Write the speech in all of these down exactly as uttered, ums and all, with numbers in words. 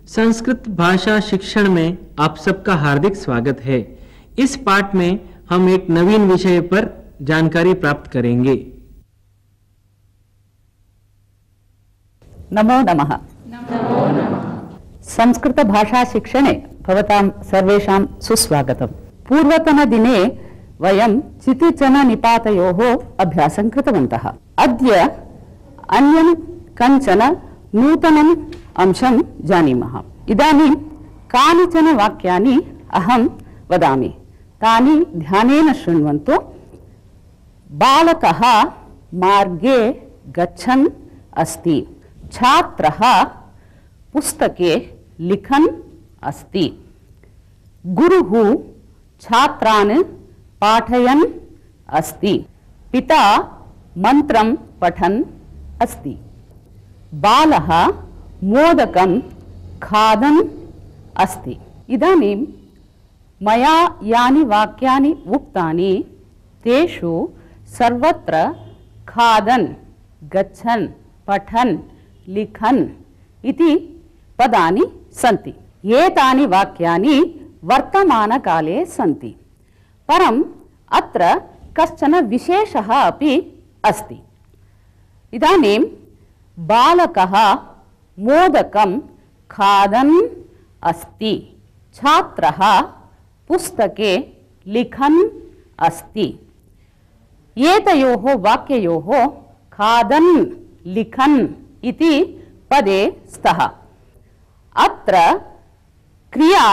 संस्कृत भाषा शिक्षण में आप सबका हार्दिक स्वागत है। इस पाठ में हम एक नवीन विषय पर जानकारी प्राप्त करेंगे। नमो नमः। संस्कृत भाषा शिक्षणे भवतां सर्वेषां सुस्वागतम्। पूर्वतनदिने वयं चितिचन निपातयोः अभ्यासं कृतवन्तः। अद्य अन्यं कञ्चन नूतनम् अंशं जानीमः। इदानीं कानिचन वाक्यानि अहं वदामि, तानि ध्यानेन शृण्वन्तु। बालकः मार्गे गच्छन् अस्ति। छात्रः पुस्तके लिखन् अस्ति। गुरुः छात्रान् पाठयन् अस्ति। पिता मन्त्रं पठन् अस्ति। बालः मोदकं खादन् अस्ति। इदानीं मया यानि वाक्यानि उक्तानि तेषु सर्वत्र खादन्, गच्छन्, पठन्, लिखन् इति पदानि सन्ति। एतानि वाक्यानि वर्तमानकाले सन्ति, परम् अत्र कश्चन विशेषः अपि अस्ति। इदानीं बालकः मोदकं खादन् अस्ति। छात्रः पुस्तके लिखन् अस्ति। एतयोः वाक्ययोः खादन् लिखन् इति पदे स्तः। अत्र क्रिया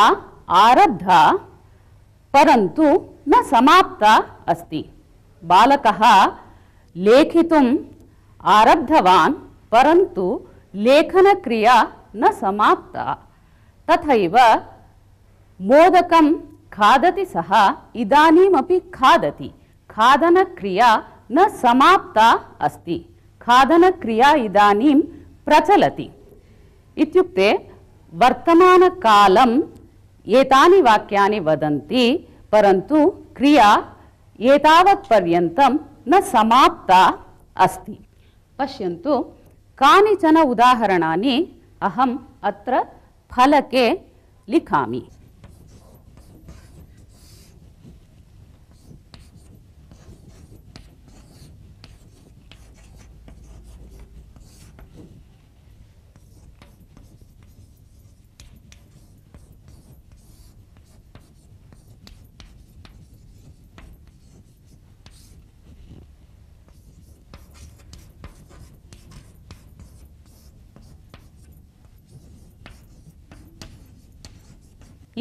आरब्धा परन्तु न समाप्ता अस्ति। बालकः लेखितुम् आरब्धवान् परन्तु लेखनक्रिया न समाप्ता। तथैव मोदकं खादति सः इदानीमपि खादति। खादनक्रिया न समाप्ता अस्ति। खादनक्रिया इदानीं प्रचलति। इत्युक्ते वर्तमानकालम् एतानि वाक्यानि वदन्ति, परन्तु क्रिया एतावत्पर्यन्तं न समाप्ता अस्ति। पश्यन्तु, कानिचन उदाहरणानि अहम् अत्र फलके लिखामि।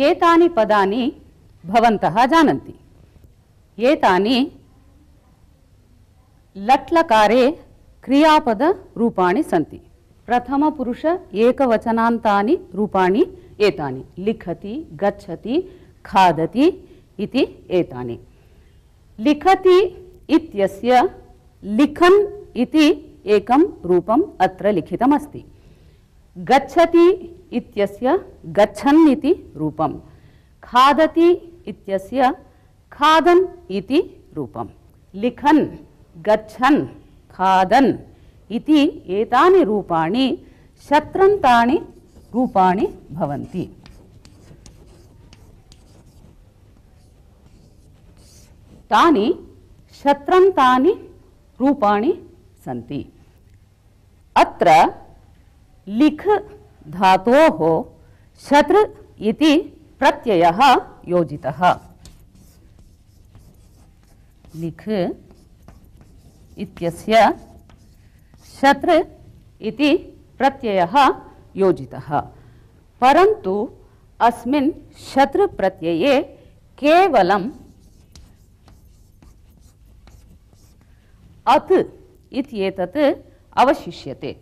एतानि पदानि भवन्तः जानन्ति। एतानि लट्लकारे क्रियापदरूपाणि सन्ति। प्रथमपुरुष एकवचनान्तानि रूपाणि एतानि। लिखति, गच्छति, खादति इति एतानि। लिखति इत्यस्य लिखन् इति एकं रूपम् अत्र लिखितमस्ति। गच्छति इत्यस्य गच्छन् इति रूपम्। खादति इत्यस्य खादन् इति रूपम्। लिखन्, गच्छन्, खादन् इति एतानि रूपाणि शत्रन्तानि रूपाणि भवन्ति। तानि शत्रन्तानि रूपाणि सन्ति। अत्र लिख धातोः शत्र इति प्रत्ययः योजितः। लिख इत्यस्य शत्र इति प्रत्ययः योजितः, परन्तु अस्मिन् शत्र प्रत्यये केवलम् अत् इत्येतत् अवशिष्यते।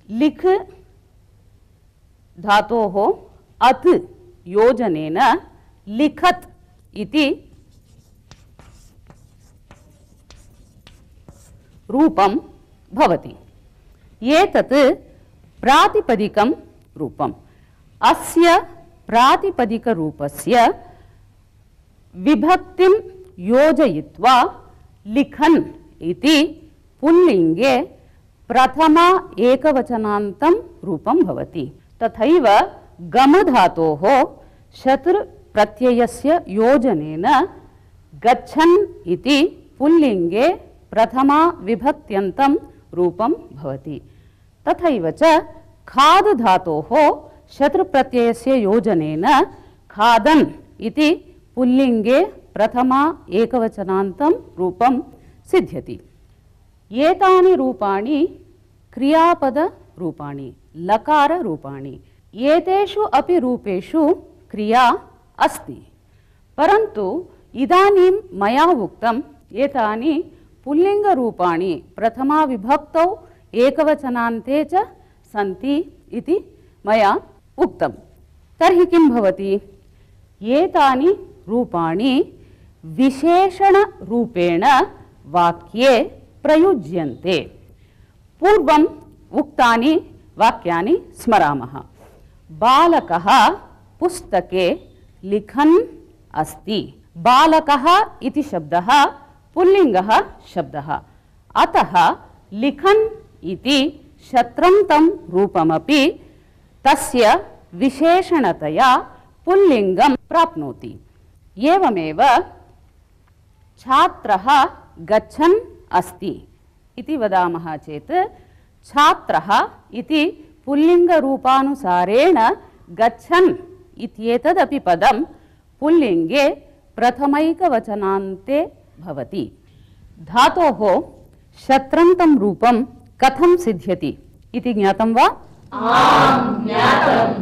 लिख धातोः अत् योजनेन लिखत् इति रूपं भवति। एतत् प्रातिपदिकं रूपम्। अस्य प्रातिपदिकरूपस्य विभक्तिं योजयित्वा लिखन् इति पुल्लिङ्गे प्रथमा एकवचनान्तं रूपं भवति। तथैव गमधातोः शतृ प्रत्ययस्य योजनेन गच्छन् इति पुल्लिङ्गे प्रथमा विभक्त्यन्तं रूपं भवति। तथैव च खाद् धातोः शतृ प्रत्ययस्य योजनेन खादन् इति पुल्लिङ्गे प्रथमा एकवचनान्तं रूपं सिद्ध्यति। एतानि रूपाणि क्रियापदरूपाणि, लकाररूपाणि। एतेषु अपि रूपेषु क्रिया अस्ति, परन्तु इदानीं मया उक्तम् एतानि पुल्लिङ्गरूपाणि प्रथमा विभक्तौ एकवचनान्ते च सन्ति इति मया उक्तं। तर्हि किं भवति? एतानि रूपाणि विशेषणरूपेण वाक्ये प्रयुज्यन्ते। पूर्वम् उक्तानि वाक्यानि स्मरामः। बालकः पुस्तके लिखन् अस्ति। बालकः इति शब्दः पुल्लिङ्गः शब्दः, अतः लिखन् इति शत्रन्तं रूपमपि तस्य विशेषणतया पुल्लिङ्गं प्राप्नोति। एवमेव छात्रः गच्छन् अस्ति इति वदामः चेत् छात्रः इति पुल्लिङ्गरूपानुसारेण गच्छन् इत्येतदपि पदं पुल्लिङ्गे प्रथमैकवचनान्ते भवति। धातोः शत्रन्तं रूपं कथं सिद्ध्यति इति ज्ञातं वा? आम्, ज्ञातम्।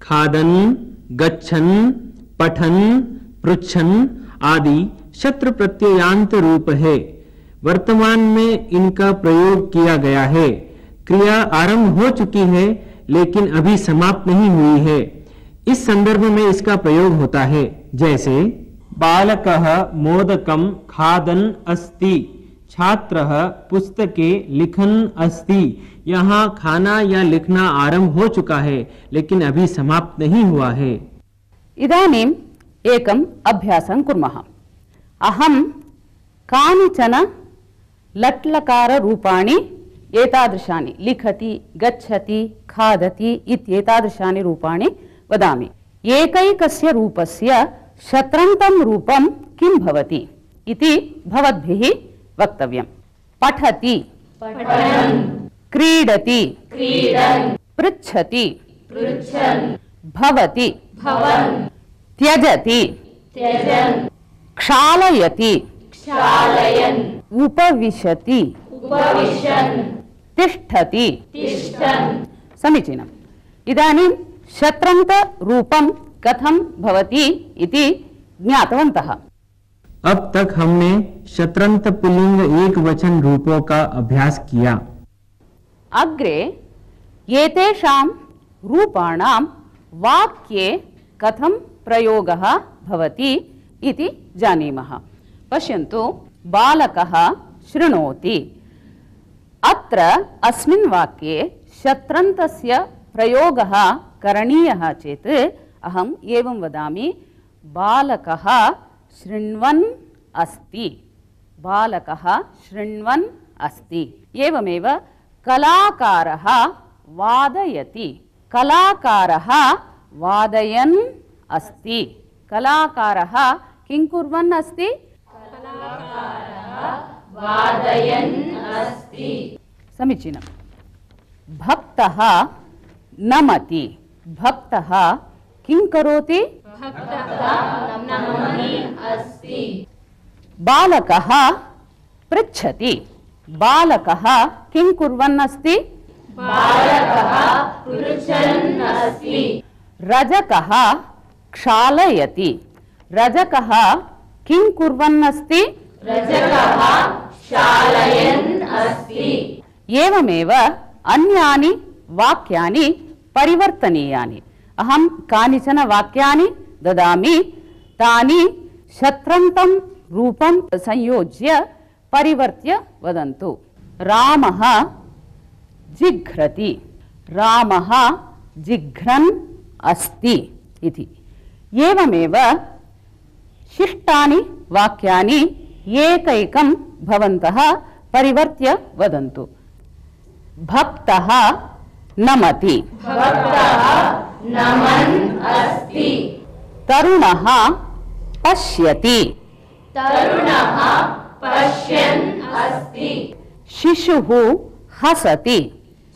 खादन्, गच्छन्, पठन्, पृच्छन् आदि शत्रु प्रत्ययांत रूप है। वर्तमान में इनका प्रयोग किया गया है। क्रिया आरंभ हो चुकी है लेकिन अभी समाप्त नहीं हुई है। इस संदर्भ में इसका प्रयोग होता है, जैसे बालकः मोदकं खादन् अस्ति, छात्रः पुस्तके लिखन् अस्ति। यहाँ खाना या लिखना आरंभ हो चुका है लेकिन अभी समाप्त नहीं हुआ है। इदानीम् एकम् अभ्यासं कुर्मः। अहं कानिचन लट्लकाररूपाणि एतादृशानि लिखति, गच्छति, खादति इत्येतादृशानि रूपाणि वदामि। एकैकस्य रूपस्य शत्रन्तं रूपं किं भवति इति भवद्भिः वक्तव्यम्। पठति, पठन्, क्रीडति, क्रीडन्, पृच्छति, पृच्छन्, भवति, भवन्, त्यजति, त्यजन्, क्षालयति, क्षालयन्, उपविशति, उपविशन्, तिष्ठति। तिष्ठन्। समीचीनम्। इदानीं शत्रन्तरूपं कथं भवति इति ज्ञातवन्तः। अब तक हमने शत्रंत पुल्लिंग एक वचन रूपों का अभ्यास किया। अग्रे एतेषां रूपाणां वाक्ये कथं प्रयोगः भवति इति जानीमः। पश्यन्तु, बालकः शृणोति। अत्र अस्मिन् वाक्ये शत्रन्तस्य प्रयोगः करणीयः चेत् अहम् एवं वदामि, बालकः शृण्वन् अस्ति। बालकः शृण्वन् अस्ति। एवमेव कलाकारः वादयति। कलाकारः वादयन् अस्ति। कलाकारः किं कुर्वन् अस्ति? वादयन् अस्ति। समीचीनम्। भक्तः नमति। भक्तः किं करोति? नमति अस्ति। बालकः पृच्छति। बालकः किं कुर्वन् अस्ति? बालकः पृच्छन् अस्ति। रजकः क्षालयति। रजकः किं कुर्वन् अस्ति? रजकः क्षालयन् अस्ति। एवमेव अन्यानि वाक्यानि परिवर्तनीयानि। अहं कानिचन वाक्यानि ददामि, तानि शत्रन्तं रूपं संयोज्य परिवर्त्य वदन्तु। रामः जिघ्रति, रामः जिघ्रन् अस्ति इति। एवमेव शिष्टानि वाक्यानि एकैकं भवन्तः परिवर्त्य वदन्तु। भक्तः नमति, भक्तः नमन् अस्ति। तरुणः पश्यति, तरुणः पश्यन् अस्ति। शिशुः हसति,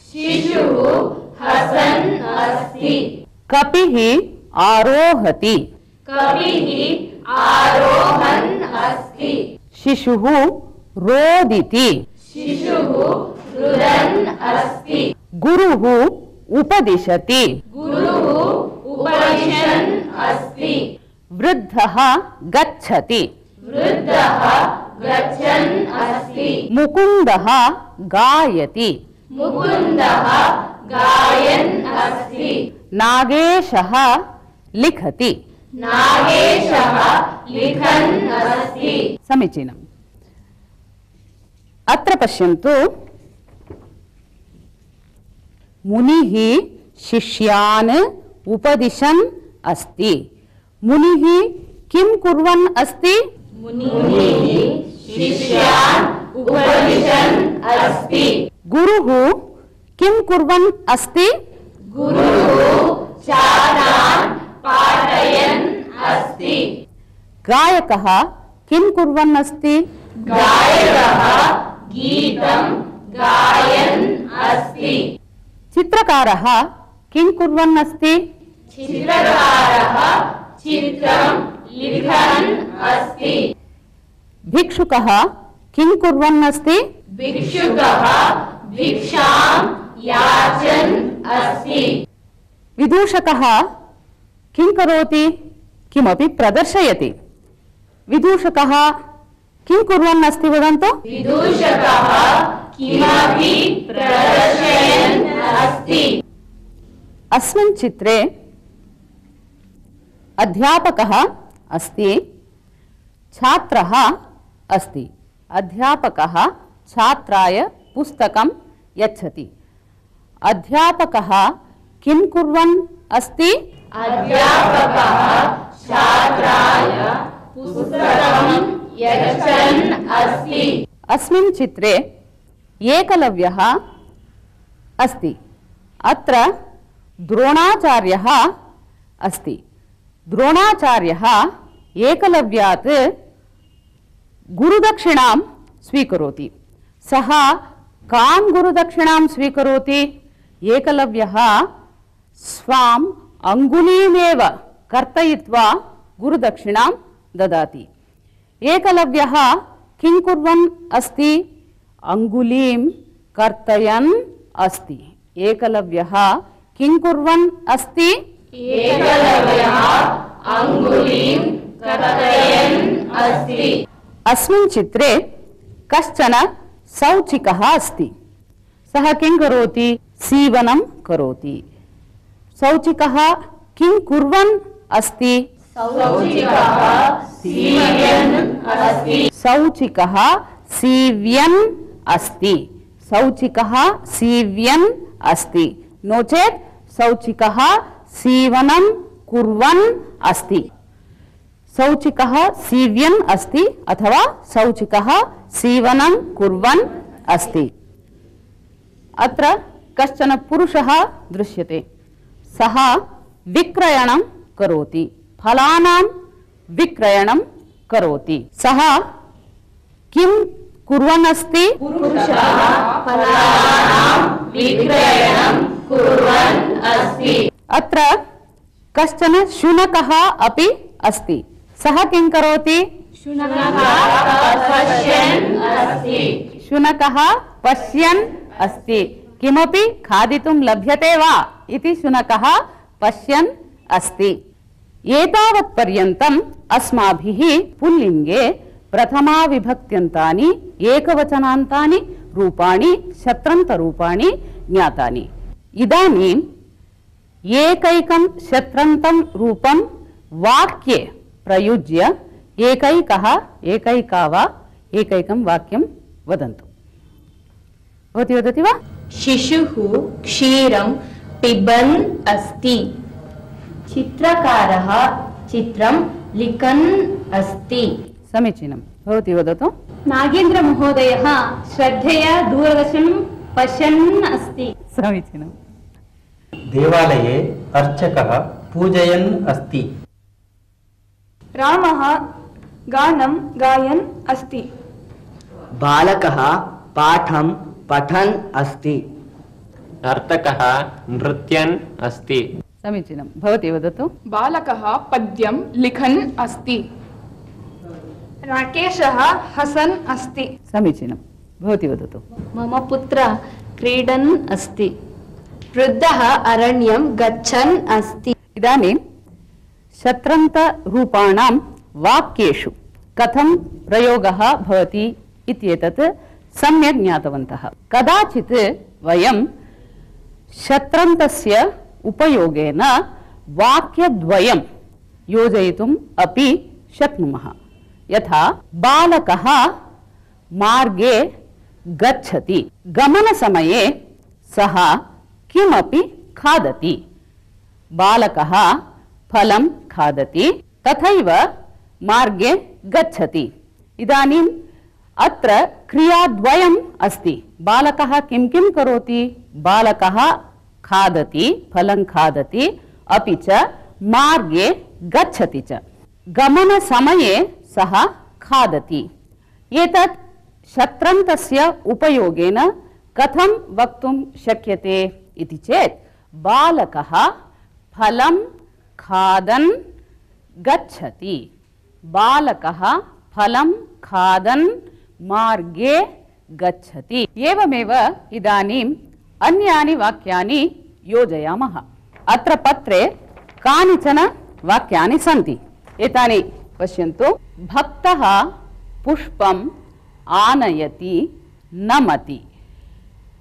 शिशुः हसन् अस्ति। कपिः आरोहति, कपिः आरोहन् अस्ति। शिशुः रोदिति, शिशुः रुदन् अस्ति। गुरुः उपदिशति, गुरुः उपदिशन् अस्ति। वृद्धः गच्छति, वृद्धः गच्छन् अस्ति। मुकुन्दः गायति, मुकुन्दः गायन् अस्ति। नागेशः लिखति। नागेशः लिखन् अस्ति। समीचीनम्। अत्र पश्यन्तु, मुनिः शिष्यान् उपदिशन् अस्ति। मुनिः किं कुर्वन् अस्ति? मुनिः शिष्यान् उपदिशन् अस्ति। गुरुः किं कुर्वन् अस्ति? गुरुः छात्रान् पाठयन् अस्ति। गायकः किं कुर्वन् अस्ति? गायकः गीतं गायन् अस्ति। चित्रकारः किं कुर्वन् अस्ति? चित्रकारः चित्रं लिखन् अस्ति। भिक्षुकः किं कुर्वन् अस्ति? भिक्षुकः भिक्षां याचन् अस्ति। विदूषकः किं करोति? किमपि प्रदर्शयति। विदूषकः किं कुर्वन् अस्ति वदन्तु? विदूषकः किमपि प्रदर्शयन् अस्ति। अस्मिन् चित्रे अध्यापकः अस्ति, छात्रः अस्ति। अध्यापकः छात्राय पुस्तकं यच्छति। अध्यापकः किं कुर्वन् अस्ति? अध्यापकः छात्राय पुस्तकं यच्छन् अस्ति। अस्मिन् चित्रे एकलव्यः अस्ति। अत्र द्रोणाचार्यः अस्ति। द्रोणाचार्यः एकलव्यात् गुरुदक्षिणां स्वीकरोति। सः कां गुरुदक्षिणां स्वीकरोति? एकलव्यः स्वाम् अङ्गुलीमेव कर्तयित्वा गुरुदक्षिणां ददाति। एकलव्यः किं कुर्वन् अस्ति? अङ्गुलीं कर्तयन् अस्ति। एकलव्यः किं कुर्वन् अस्ति? एकलव्यः अङ्गुलीं कर्तयन् अस्ति। अस्मिन् चित्रे कश्चन सौचिकः अस्ति। सः किं करोति? सीवनं करोति। सौचिकः किं कुर्वन् अस्ति? सौचिकः सीवयन् अस्ति। सौचिकः सीव्यन् अस्ति। सौचिकः सीव्यन् अस्ति। नो चेत् सौचिकः सीवनं कुर्वन् अस्ति। सौचिकः सीव्यन् अस्ति अथवा सौचिकः सीवनं कुर्वन् अस्ति। अत्र कश्चन पुरुषः दृश्यते। सः विक्रयणं करोति। फलानां विक्रयणं करोति। सः किं कुर्वन् अस्ति? पुरुषः फलानां विक्रयणं कुर्वन् अस्ति। अत्र कश्चन शुनकः अपि अस्ति। सः किं करोति? शुनकः पश्यन् अस्ति। शुनकः पश्यन् अस्ति। किमपि खादितुं लभ्यते वा इति शुनकः पश्यन् अस्ति। एतावत् पर्यन्तम् अस्माभिः पुल्लिङ्गे प्रथमाविभक्त्यन्तानि एकवचनान्तानि रूपाणि शत्रन्तरूपाणि ज्ञातानि। इदानीम् एकैकं शत्रन्तं रूपं वाक्ये प्रयुज्य एकैकः एकैका वा एकैकं वाक्यं वदन्तु। भवती वदति वा? शिशुः क्षीरं पिबन् अस्ति। चित्रकारः चित्रं लिखन् अस्ति। समीचीनं। भवती वदतु। नागेन्द्रमहोदयः श्रद्धया दूरदर्शनं पश्यन् अस्ति। समीचीनं। देवालये अर्चकः पूजयन् अस्ति। रामः गानं गायन् अस्ति। बालकः पाठं पठन् अस्ति। नर्तकः नृत्यन् अस्ति। समीचीनं। भवती वदतु। बालकः पद्यं लिखन् अस्ति। राकेशः हसन् अस्ति। समीचीनं। भवती वदतु। मम पुत्रः क्रीडन् अस्ति। वृद्धः अरण्यं गच्छन् अस्ति। इदानीं शत्रन्तरूपाणां वाक्येषु कथं प्रयोगः भवति इत्येतत् सम्यक् ज्ञातवन्तः। कदाचित् वयं शत्रन्तस्य उपयोगेन वाक्यद्वयं योजयितुम् अपि शक्नुमः। यथा बालकः मार्गे गच्छति। गमनसमये सः किमपि खादति। बालकः फलं खादति तथैव मार्गे गच्छति। इदानीम् अत्र क्रियाद्वयम् अस्ति। बालकः किं किं करोति? बालकः खादति, फलं खादति, अपि च मार्गे गच्छति च। गमनसमये सः खादति। एतत् शत्रन्तस्य उपयोगेन कथं वक्तुं शक्यते इति चेत् बालकः फलं खादन् गच्छति। बालकः फलं खादन् मार्गे गच्छति। एवमेव इदानीम् अन्यानि वाक्यानि योजयामः। अत्र पत्रे कानिचन वाक्यानि सन्ति। एतानि पश्यन्तु। भक्तः पुष्पम् आनयति नमति।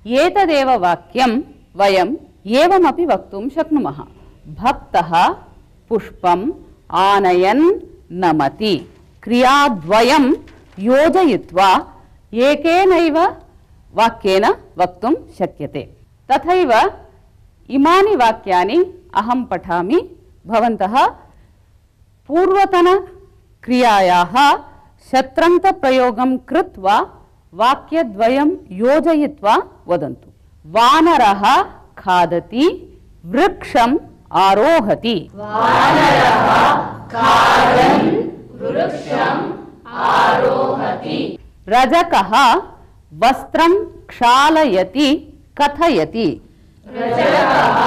एतदेव वाक्यं वयम् एवमपि वक्तुं शक्नुमः। भक्तः पुष्पम् आनयन् नमति। क्रियाद्वयं योजयित्वा एकेनैव वाक्येन वक्तुं शक्यते। तथैव इमानि वाक्यानि अहं पठामि। भवन्तः पूर्वतनक्रियायाः शत्रन्तप्रयोगं कृत्वा वाक्यद्वयं योजयित्वा वदन्तु। वानरः खादति, वृक्षम् आरोहति। वानरः खादन् वृक्षम् आरोहति। रजकः वस्त्रं क्षालयति, कथयति। रजकः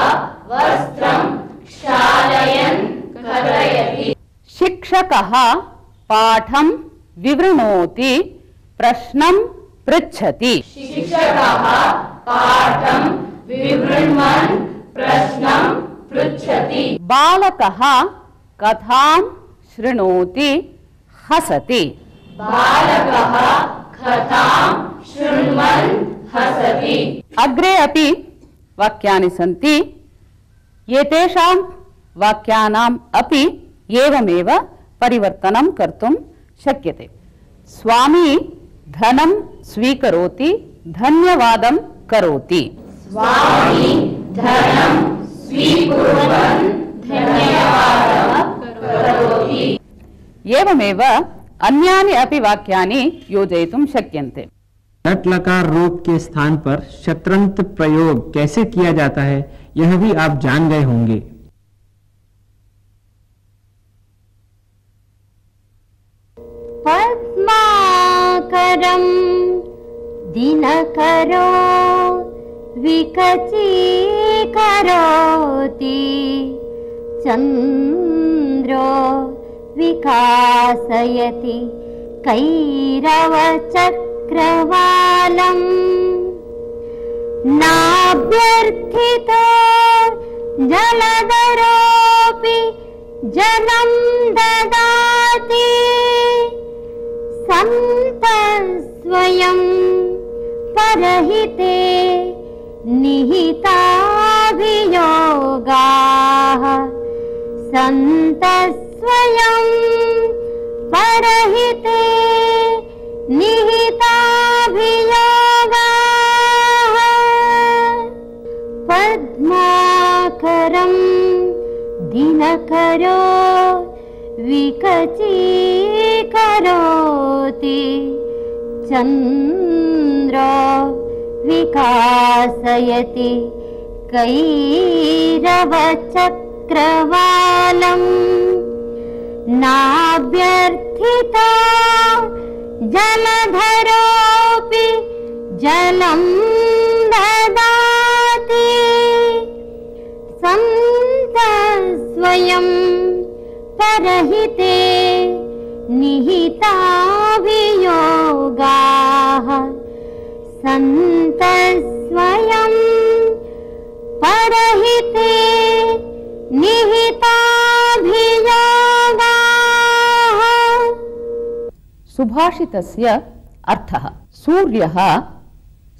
वस्त्रं क्षालयन् कथयति। शिक्षकः पाठं विवृणोति, प्रश्नं पृच्छति। शिक्षकः पाठं विवृण्वन् प्रश्नं पृच्छति। बालकः कथां शृणोति, हसति। बालकः कथां शृण्वन् हसति। अग्रे अपि वाक्यानि सन्ति। एतेषां वाक्यानाम् अपि एवमेव परिवर्तनं कर्तुं शक्यते। स्वामी धनं स्वीकरोति, धन्यवादं करोति। स्वामी धनं स्वीकुर्वन् धन्यवादं करोति। एवमेव अन्यानि अपि वाक्यानि योजयितुं शक्यन्ते। लट लकार रूप के स्थान पर शत्रंत प्रयोग कैसे किया जाता है यह भी आप जान गए होंगे। पद्माकरं दिनकरो विकचीकरोति, चन्द्रो विकासयति कैरवचक्रवालम्। नाभ्यर्थितो जलधरोऽपि जलं ददाति, सन्तस्वयं परहिते निहिताभियोगाः। सन्तस्वयं परहिते निहिताभियोगाः। प्रखरो विकचीकरोति चन्द्रो विकासयति कैरवचक्रवालम् नाभ्यर्थिता जलधरोऽपि जलं ददाति सन्तस्वयं परहिते निहिताभियोगाः सन्तस्वयं परहिते निहिताभियोगाः। सुभाषितस्य अर्थः सूर्यः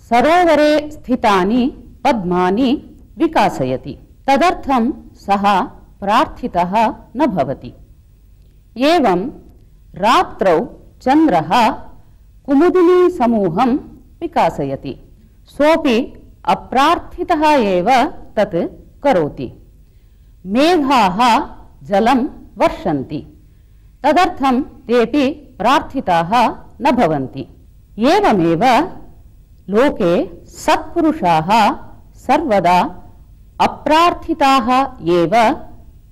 सरोवरे स्थितानि पद्मानि विकासयति, तदर्थं सः प्रार्थितः न भवति। एवं रात्रौ चन्द्रः कुमुदिनी समूहं विकासयति, सोऽपि अप्रार्थितः एव तत् करोति। मेघाः जलं वर्षन्ति, तदर्थं तेऽपि प्रार्थिताः न भवन्ति। एवमेव लोके सत्पुरुषाः सर्वदा अप्रार्थिताः एव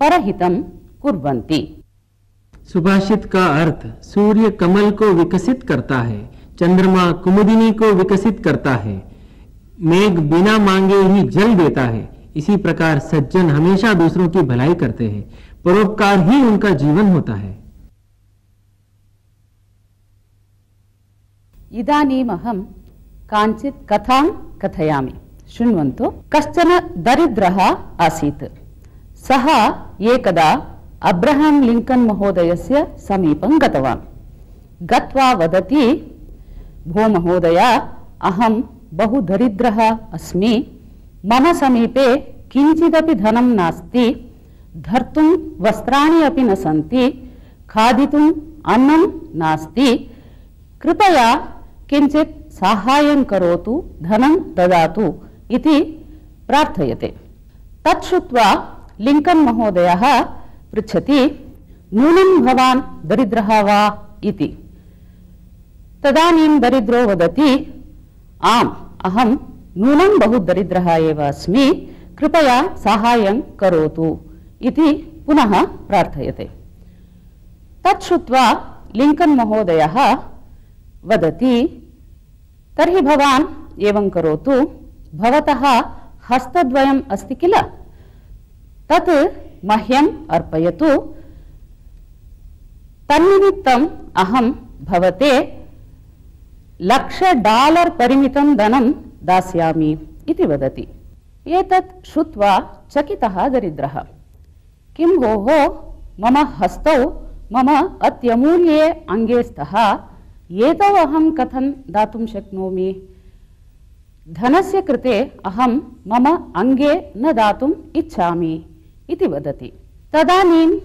परहितं कुर्वन्ति। सुभाषित का अर्थ सूर्य कमल को विकसित करता है, चंद्रमा कुमुदिनी को विकसित करता है, मेघ बिना मांगे ही जल देता है। इसी प्रकार सज्जन हमेशा दूसरों की भलाई करते हैं, परोपकार ही उनका जीवन होता है। इदानीमहं काञ्चित् कथां कथयामि, शृण्वन्तु। कश्चन दरिद्रः आसीत्। सः एकदा अब्रहां लिंकन् महोदयस्य समीपं गतवान्। गत्वा वदति, भो महोदय, अहं बहु दरिद्रः अस्मि, मम समीपे किञ्चिदपि धनं नास्ति, धर्तुं वस्त्राणि अपि न सन्ति, खादितुम् अन्नं नास्ति, कृपया किञ्चित् साहाय्यं करोतु, धनं ददातु इति प्रार्थयते। तत् श्रुत्वा लिंकन् महोदयः पृच्छति, नूनं भवान् दरिद्रः वा इति। तदानीं दरिद्रो वदति, आम्, अहं नूनं बहु दरिद्रः एव अस्मि, कृपया साहाय्यं करोतु इति पुनः प्रार्थयते। तत् श्रुत्वा लिंकन् महोदयः वदति, तर्हि भवान् एवं करोतु, भवतः हस्तद्वयम् अस्ति किल, तत् मह्यम् अर्पयतु, तन्निमित्तम् अहं भवते लक्ष डालर् परिमितं धनं दास्यामि इति वदति। एतत् श्रुत्वा चकितः दरिद्रः, किं भोः, मम हस्तौ मम अत्यमूल्ये अङ्गे स्तः, एतौ अहं कथं दातुं शक्नोमि? धनस्य कृते अहं मम अङ्गे न दातुम् इच्छामि इति वदति। तदानीं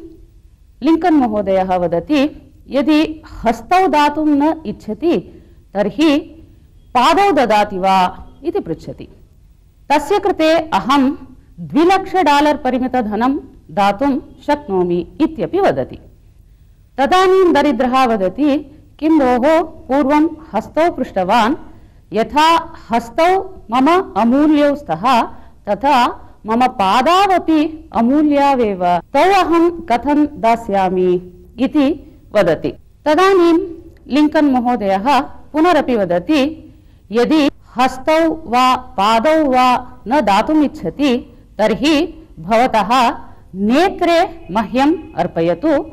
लिंकन् महोदयः वदति, यदि हस्तौ दातुं न इच्छति तर्हि पादौ ददाति वा इति पृच्छति। तस्य कृते अहं द्विलक्ष डालर् परिमितधनं दातुं शक्नोमि इत्यपि वदति। तदानीं दरिद्रः वदति, किं भोः, पूर्वं हस्तौ पृष्टवान्, यथा हस्तौ मम अमूल्यौ स्तः तथा मम पादावपि अमूल्यावेव, तौ अहं कथं दास्यामि इति वदति। तदानीं लिंकन् महोदयः पुनरपि वदति, यदि हस्तौ वा पादौ वा न दातुम् इच्छति तर्हि भवतः नेत्रे मह्यम् अर्पयतु,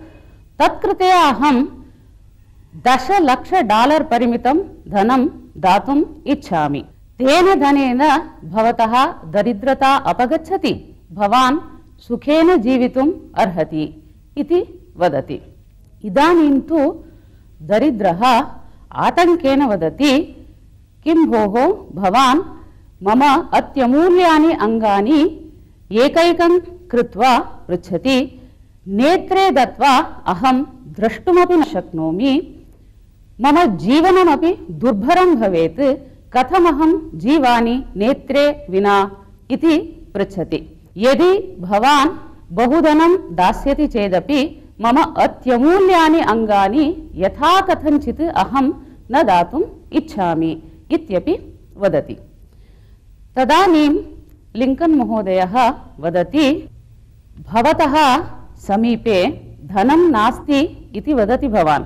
तत्कृते अहं दशलक्ष डालर् परिमितं धनं दातुम् इच्छामि। तेन धनेन भवतः दरिद्रता अपगच्छति, भवान् सुखेन जीवितुम् अर्हति इति वदति। इदानीं तु दरिद्रः आतङ्केन वदति, किं भोः, भवान् मम अत्यमूल्यानि अङ्गानि एकैकं कृत्वा पृच्छति, नेत्रे दत्वा अहं द्रष्टुमपि न शक्नोमि, मम जीवनमपि दुर्भरं भवेत्, कथमहं जीवानि नेत्रे विना इति पृच्छति। यदि भवान् बहुधनं दास्यति चेदपि मम अत्यमूल्यानि अङ्गानि यथा कथञ्चित् अहं न दातुम् इच्छामि इत्यपि वदति। तदानीं लिङ्कन् महोदयः वदति, भवतः समीपे धनं नास्ति इति वदति भवान्,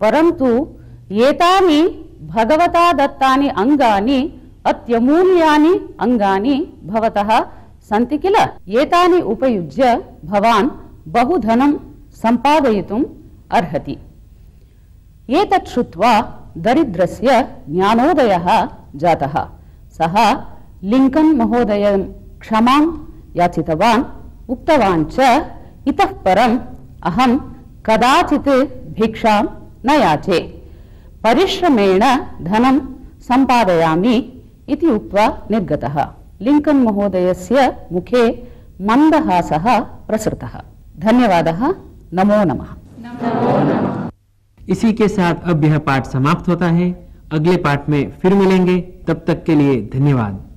परन्तु एतानि भगवता दत्तानि अङ्गानि अत्यमूल्यानि अङ्गानि भवतः सन्ति किल, एतानि उपयुज्य भवान् बहुधनं सम्पादयितुम् अर्हति। एतत् श्रुत्वा दरिद्रस्य ज्ञानोदयः जातः। सः लिङ्कन् महोदयं क्षमां याचितवान्, उक्तवान् च, इतः परम् अहं कदाचित् भिक्षां न याचे, परिश्रमेण धनं सम्पादयामि इति उक्त्वा निर्गतः। लिङ्कन् महोदयस्य मुखे मन्दहासः प्रसृतः। धन्यवादः। नमो नमः। इसी के साथ अब यह पाठ समाप्त होता है। अगले पाठ में फिर मिलेंगे, तब तक के लिए धन्यवाद।